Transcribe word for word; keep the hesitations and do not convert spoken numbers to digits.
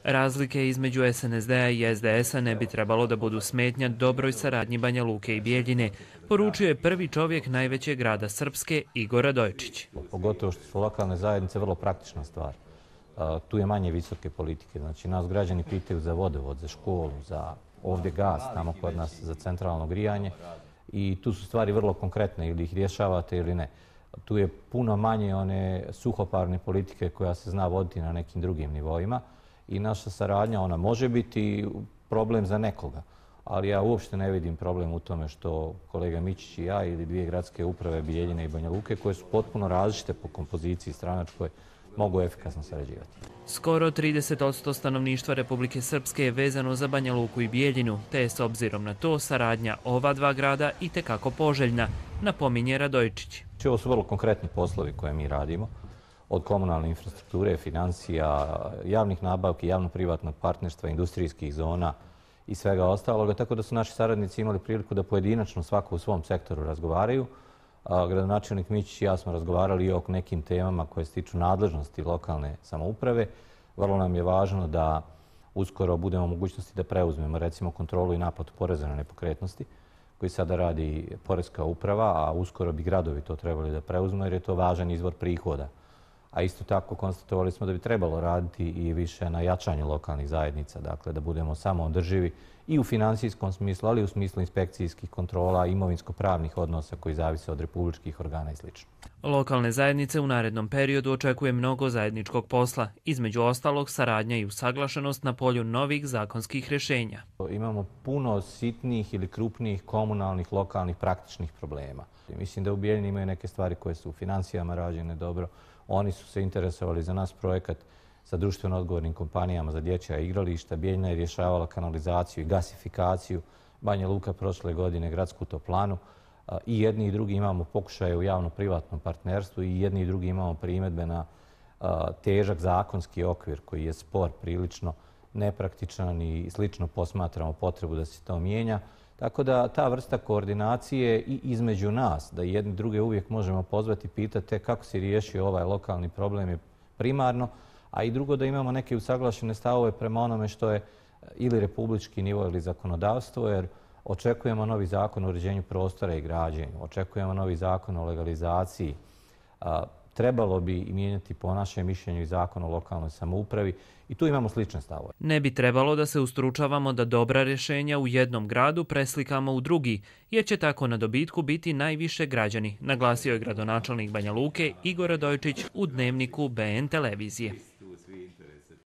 Razlike između S N S D-a i S D S-a ne bi trebalo da budu smetnja dobroj saradnji Banja Luke i Bijeljine, poručio je prvi čovjek najvećeg grada Srpske, Igor Radojičić. Pogotovo što su lokalne zajednice vrlo praktična stvar. Tu je manje visoke politike. Znači, nas građani pitaju za vodovod, za školu, za ovdje gas, tamo kod nas za centralno grijanje. I tu su stvari vrlo konkretne, ili ih rješavate ili ne. Tu je puno manje one suhoparne politike koja se zna voditi na nekim drugim nivoima. I naša saradnja, ona može biti problem za nekoga. Ali ja uopšte ne vidim problem u tome što kolega Mićić i ja ili dvije gradske uprave Bijeljine i Banja Luke, koje su potpuno različite po kompoziciji stranačkoj, mogu efikasno sarađivati. Skoro trideset posto stanovništva Republike Srpske je vezano za Banja Luku i Bijeljinu, te je s obzirom na to saradnja ova dva grada itekako poželjna, napominje Radojičić. Ovo su vrlo konkretni poslovi koje mi radimo, od komunalne infrastrukture, financija, javnih nabavki, javno-privatnog partnerstva, industrijskih zona i svega ostaloga, tako da su naši saradnici imali priliku da pojedinačno svako u svom sektoru razgovaraju. Gradonačelnik Mićić i ja smo razgovarali i o nekim temama koje se tiču nadležnosti lokalne samouprave. Vrlo nam je važno da uskoro budemo u mogućnosti da preuzmemo recimo kontrolu i naplatu poreza na nepokretnosti, koji sada radi Poreska uprava, a uskoro bi gradovi to trebali da preuzmu jer je to važan izvor prihoda. A isto tako konstatovali smo da bi trebalo raditi i više na jačanju lokalnih zajednica, dakle da budemo samoodrživi i u finansijskom smislu, ali i u smislu inspekcijskih kontrola, imovinsko-pravnih odnosa koji zavise od republičkih organa i sl. Lokalne zajednice u narednom periodu očekuje mnogo zajedničkog posla, između ostalog saradnja i usaglašenost na polju novih zakonskih rješenja. Imamo puno sitnih ili krupnijih komunalnih, lokalnih, praktičnih problema. Mislim da u Bijeljini imaju neke stvari koje su u financijama rađene dobro. Oni su se interesovali za nas projekat sa društveno odgovornim kompanijama za dječja igrališta. Bijeljina je rješavala kanalizaciju i gasifikaciju. Banja Luka prošle godine gradsku toplanu. I jedni i drugi imamo pokušaje u javno-privatnom partnerstvu i jedni i drugi imamo primjedbe na težak zakonski okvir koji je spor, prilično nepraktičan i slično posmatramo potrebu da se to mijenja. Tako da ta vrsta koordinacije i između nas, da jedni druge uvijek možemo pozvati i pitati kako si riješio ovaj lokalni problem je primarno, a i drugo da imamo neke usaglašene stavove prema onome što je ili republički nivo ili zakonodavstvo, jer očekujemo novi zakon o uređenju prostora i građenju, očekujemo novi zakon o legalizaciji. Trebalo bi mijenjati po našem mišljenju i zakon o lokalnoj samoupravi i tu imamo slične stavove. Ne bi trebalo da se ustručavamo da dobra rješenja u jednom gradu preslikamo u drugi, jer će tako na dobitku biti najviše građani, naglasio je gradonačelnik Banja Luke Igor Radojičić u Dnevniku B N televizije.